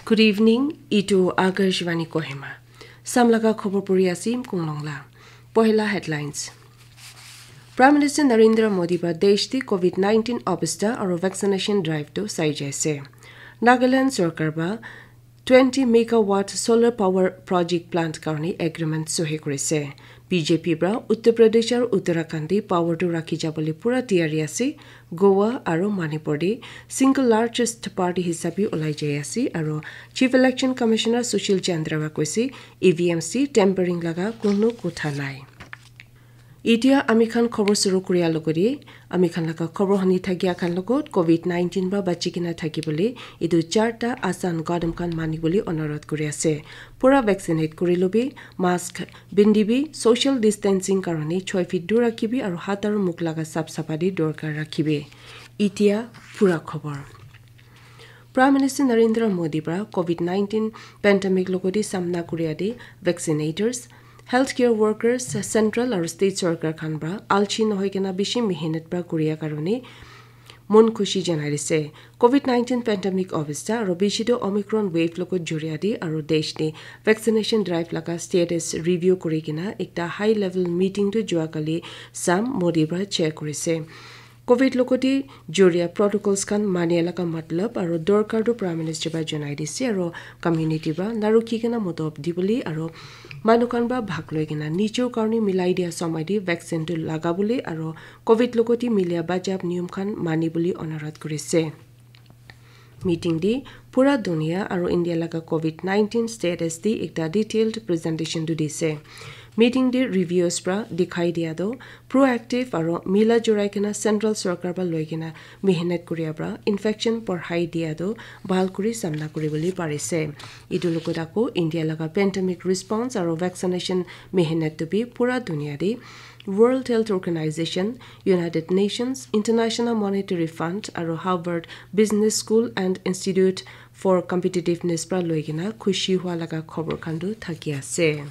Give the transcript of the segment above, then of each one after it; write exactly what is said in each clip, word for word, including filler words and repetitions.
Good evening, itu Akashvani Kohima. Samlaga khobor puri asim kunglongla. Pohela headlines. Prime Minister Narendra Modi ba desh te COVID nineteen obostha aro vaccination drive to sai jaise. Nagaland sorkar ba twenty megawatt solar power project plant karni agreement sohi kurise. B J P pra Uttar Pradesh aro Uttarakhand te power tu rakhi jabole pura tiyari ase. Goa aro Manipur te single largest party hisabe ulai jai ase aro Chief Election Commissioner Sushil Chandra wa koise E V M C tampering laga kono kotha nai. Itia ami khan khobor suru kuria logori, ami khan laga khobor honi thakia khan logot COVID nineteen ba bachi kena thaki bole, etu charta asan gadam khan mani bole onurodh kuri ase. Pura vaccinate kuri lobi, mask bindibi, social distancing karone choi feet dur rakhibi aru hat aru mukh laga sap sapadi dorkar rakhibi. Itia pura khobor. Prime Minister Narendra Modi pra COVID nineteen pandemic logodi samna kuria de vaccinators, healthcare workers, central aru state sorkar khan pra alchi nohoi kena bishi mehenat pra kuria karone mon khushi janai dise. COVID nineteen pandemic obostha aru bishi to Omicron wave logot juria de aru desh de vaccination drive laga status review kuri kena ekta high level meeting tu jua kali sam Modi pra chair kurise. COVID logoti juria protocols khan mania laga matlab aru dorkar tu Prime Minister ba janai dise aru community ba narukhi kena motob dibole aru manu khan ba bhag loi kena nichor karne milai dia samai de vaccine tu lagabole aru COVID logoti milia bajab niyom khan mani bole onurodh kurise. Meeting de pura dunia aru India laga COVID nineteen status de ekta detailed presentation tu dise. Meeting de reviews pra dikhai dia to proactive aru mila jurai kena central sorkar pra loi kena mehenat kuria pra infection porhai dia to bhal kuri samna kuri bole parise. Etu logot ako India laga pandemic response aru vaccination mehenat tu bi pura dunia de World Health Organization, United Nations, International Monetary Fund aru Harvard Business School and Institute for Competitiveness pra loi kena khushi hua laga khobor khan tu thaki ase.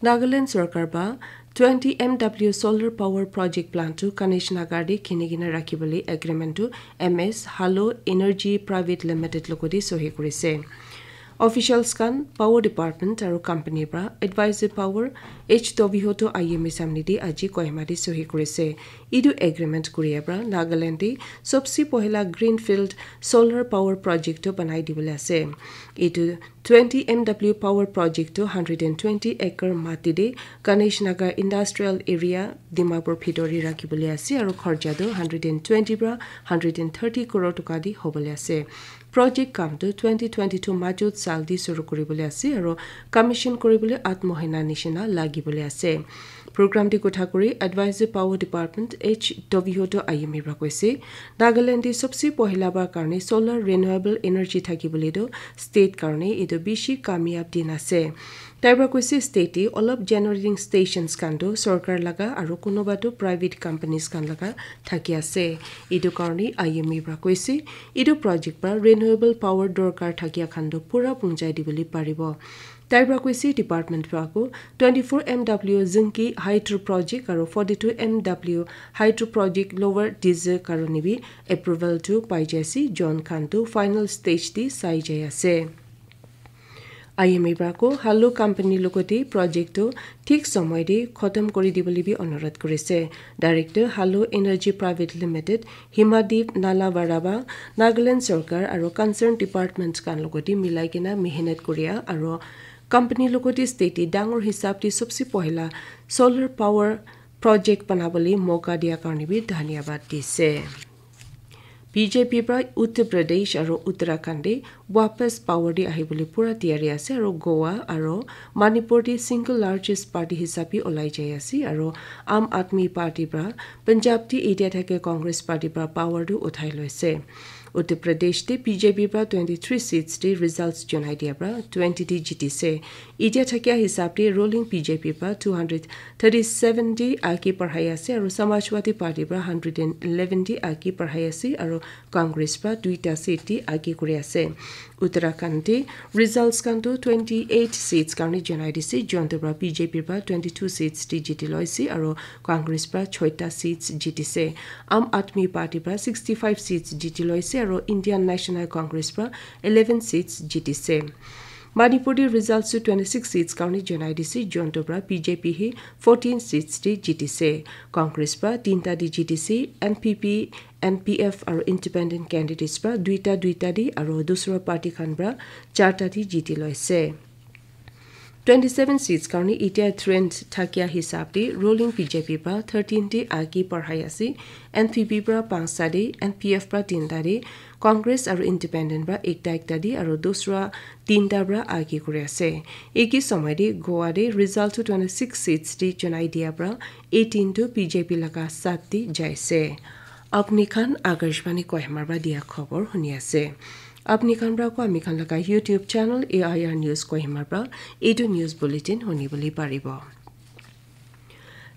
Nagaland sorkar ba twenty M W solar power project plant tu Ganesh Nagar de khini kena rakhi bole agreement tu M S Halo Energy Private Limited logoti sohi kurise. Officials khan power department aru company pra advisory power H Tovihoto I M A samni de aji Kohima de sohi kurise. Etu agreement kuria pra Nagaland de sobse pohila greenfield solar power project tu banai dibole ase. Etu twenty M W power project tu hundred and twenty acre mati de Ganesh Nagar Industrial Area Dimapur bhitor de rakhi bole ase aru kharcha tu hundred and twenty pra hundred and thirty crore toka de hobole ase. Project kam tu twenty twenty-two majut sal di suru kuri bole ase aru commission kuri bole at mohina nishina lagi bole ase. Program di kotha kuri Advisor Power Department H Tovihoto Ayumi pra koise, Nagaland di sobse pohila bar karne solar renewable energy thaki bole tu state karne etu bishi kamyab din ase. Tai pra koise state te olop generating stations khan tu sorkar laga aru kunuba tu private companies khan laga thaki ase. Etu karne Ayumi pra koise, etu project pra renewable power dorkar thakia khan tu pura punjai dibole paribo. Tai pra koise department pra ko twenty-four M W Zinki Hydro Project aru forty-two M W Hydro Project Lower Dizir karone bi approval tu pai jai ase, jon khan tu final stage te sai jai ase. I M A pra ko Halo company logote project tu thik somoy te khotom kori dibole bi onurodh korise. Director Halo Energy Private Limited Himadeep Nalavaraba Nagaland sorkar aru concerned department khan logote milai kena mehenat koria aru company logote state te dangor hisab te sobse pohila solar power project banabole moka dia karne bi dhanyabad dise. B J P pra Uttar Pradesh aru Uttarakhand te wapas power te ahibole pura tiyari ase aru Goa aru Manipur te single largest party hisabe olai jai ase aru Aam Aadmi Party pra Punjab te etia thake Congress party pra power tu uthai loise. Uttar Pradesh te B J P pra twenty-three seats te results jonai dia pra twenty te jitise. Etia thakia hisab te ruling B J P pra two hundred thirty-seven te age parhai ase aru Samajwadi Party pra hundred and eleven te age parhai ase aru Congress pra duita seat te age kuri ase. Uttarakhand te results khan tu twenty-eight seats karne jonai dise, jonte pra B J P pra twenty-two seats te jiti loise aru Congress pra choita seats jitise. Aam Aadmi Party pra sixty-five seats jiti loise aro Indian National Congress pra eleven seats jitise. Manipur te results tu twenty-six seats karne janai dise, jonto pra B J P hi fourteen seats te jitise. Congress pra tinta te jitise, N P P, N P F aro independent candidates pra duita duita te aro dusra party khan pra charta te jiti loise. Twenty-seven seats karne itia trend thakia hisab te ruling B J P pra thirteen te age parhai ase, N P P pra panchta te, N P F pra tinta te, Congress aro independent pra ekta ekta te aro dusra tinta pra age kuri ase. Eki samay te Goa te result tu twenty-six seats te janai dia pra eighteen tu B J P laga sat te jaise. Apni khan Akashvani Kohima pra dia khobor huni ase. Apni khan pra ko ami khan laga YouTube channel A I R News Kohima pra etu news bulletin huni bole paribo.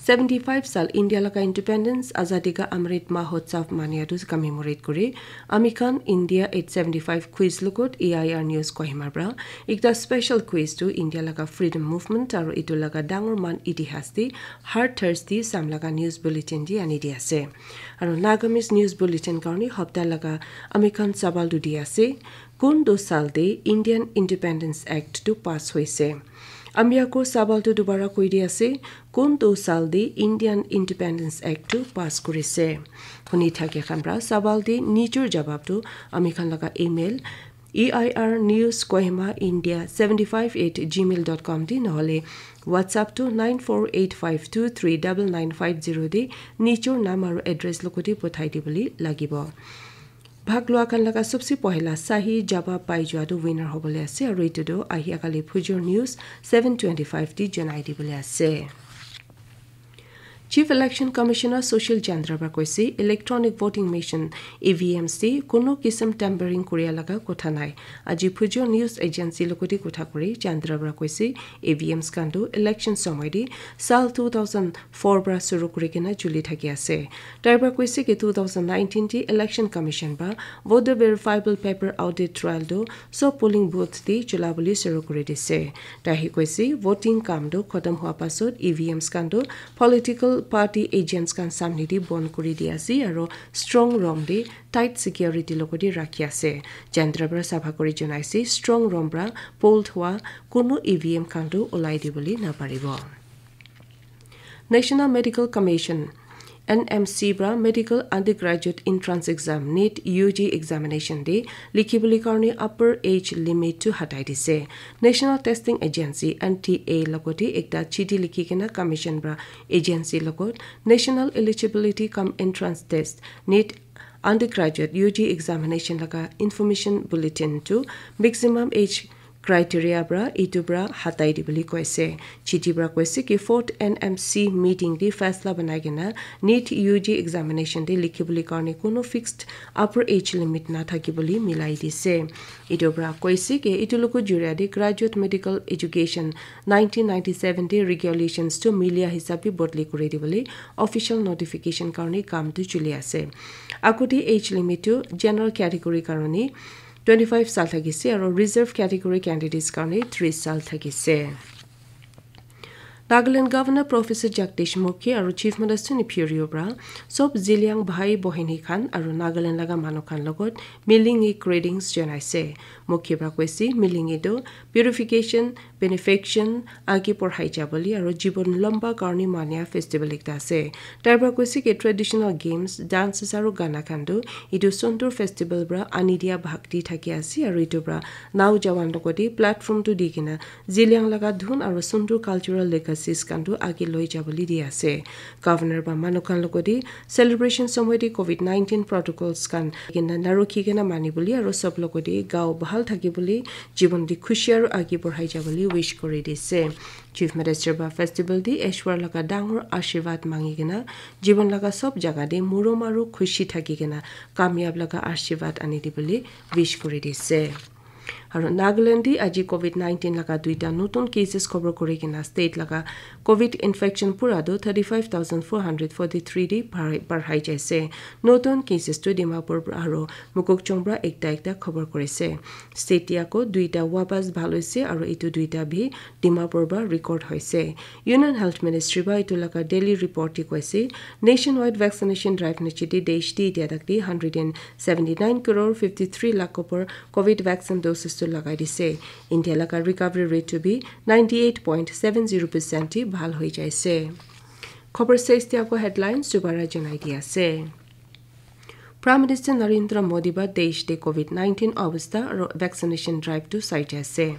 Seventy-five sal India laga independence, Azadi ka Amrit Mahotsav mania tu commemorate kuri, ami khan India eight seventy-five quiz logot A I R News Kohima pra ekta special quiz tu India laga freedom movement aro etu laga dangor man itihas te hard Thursday sam laga news bulletin te ani di ase. Aro Nagamese news bulletin karne hapta laga ami khan sawal tu di ase, kun tu sal te Indian Independence Act tu pass hoise? Ami ako sawal tu dubara koi di ase, kun tu sal te Indian Independence Act tu pass kurise? Huni thake khan pra sawal te nijor jawab tu ami khan laga email A I R news Kohima India seventy five at gmail dot com te nohole WhatsApp tu nine four eight five two three double nine five zero te nijor naam aro address logote pothai dibole lagibo. Bhag lua khan laga sobse pohila sahi jawab pai jua tu winner hobole ase, aro etu tu ahi akali phujor news seven twenty five te janai dibole ase. Chief Election Commissioner Sushil Chandra pra koise, electronic voting machine E V Ms te kono kisim tampering kuria laga kotha nai. Aji phujor news agency logote kotha kuri Chandra pra koise, E V Ms khan tu election somoy te sal two thousand four pra suru kuri kena chuli thaki ase. Tai pra koise ki two thousand nineteen te Election Commission pra voter verifiable paper audit trial tu sob polling booth te chula bole suru kuri dise. Tai hi koise, voting kam tu khotom hua pasot E V Ms khan tu political party agents khan samne te bon kuri di ase aro strong room te tight security logote rakhi ase. Chandra pra sapha kuri janai ase, strong room pra poll hua kono E V M khan tu olai dibole naparibo. National Medical Commission, N M C pra medical undergraduate entrance exam, NEET U G examination te likhi bole karne upper age limit tu hatai dise. National Testing Agency, N T A logote ekta chiti likhi kena commission pra agency logot National Eligibility cum Entrance Test, NEET undergraduate U G examination laga information bulletin tu maximum age criteria pra etu pra hatai dibole koise. Chiti pra koise ki fourth N M C meeting te faisla banai kena NEET U G examination te likhi bole karne kono fixed upper age limit na thaki bole milai dise. Etu pra koise ki etu logo juria te graduate medical education nineteen ninety seven te regulations tu milia hisab te bodli kuri dibole official notification karne kam tu chuli ase. Agote age limit tu general category karne twenty five sal thakise aro reserve category candidates karne tris sal thakise. Nagaland Governor Professor Jagdish Mukhi aro Chief Minister Neiphiu Rio pra sob Zeliang bhai bohini khan aro Nagaland laga manu khan logot Milingi greetings janaise. Mukhi pra koise Milingi tu purification, benefaction, age porhai jabole aro jibon lamba karne mania festival ekta ase. Tai pra koise ki traditional games, dances aro gana khan tu etu sundur festival pra ani dia bhakti thaki ase aro etu pra naujawan logote platform tu di kena Zeliang laga dhun aro sundur cultural legacies khan tu age loi jabole di ase. Governor pra manu khan logote celebration somoy te covid nineteen protocols khan kena narukhi kena mani bole aro sob logote gao bhal thaki bole, jibon te khushi aro age porhai jabole wish kuri dise. Chief Minister pra festival te Ishwar laga dangor ashirwad mangi kena jibon laga sob jaga te murom aro khushi thaki kena kamyab laga ashirwad ani dibole wish kuri dise. Aru Nagaland te aji covid nineteen laga duita notun cases khobor kuri kena state laga covid infection pura tu thirty five thousand four hundred forty three te barhai jaise. Notun cases tu Dimapur aru Mokokchung para ekta ekta khobor kurise. State te ako duita wapas bhal hoise aru etu duita bhi Dimapur para record hoise. Union Health Ministry para etu laga daily report te koise, nationwide vaccination drive niche te desh te etia tak te hundred and seventy nine crore fifty three lakh upor covid vaccine doses tu lagai dise. India laga recovery rate tu bhi ninety eight point seven zero percent te bhal hoi jaise. Khobor shes te ako headlines dobara janai di ase. Prime Minister Narendra Modi ba desh te covid nineteen obostha aru vaccination drive tu sai jai ase.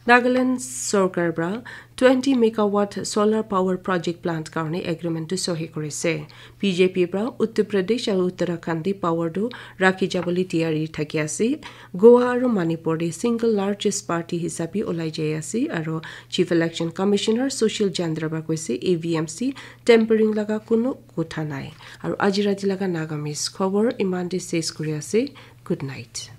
Nagaland sorkar para twenty megawatt solar power project plant karone agreement tu sohi korise. B J P para Uttar Pradesh aru Uttarakhand te power tu rakhi jabole tiyari thaki ase. Goa aru Manipur te single largest party hisabe ulai jai ase aru Chief Election Commissioner Sushil Chandra para koise A V M C tampering laga kunu kotha nai. Aru aji rati laga Nagamese khobor iman te ses kuri ase. Good night.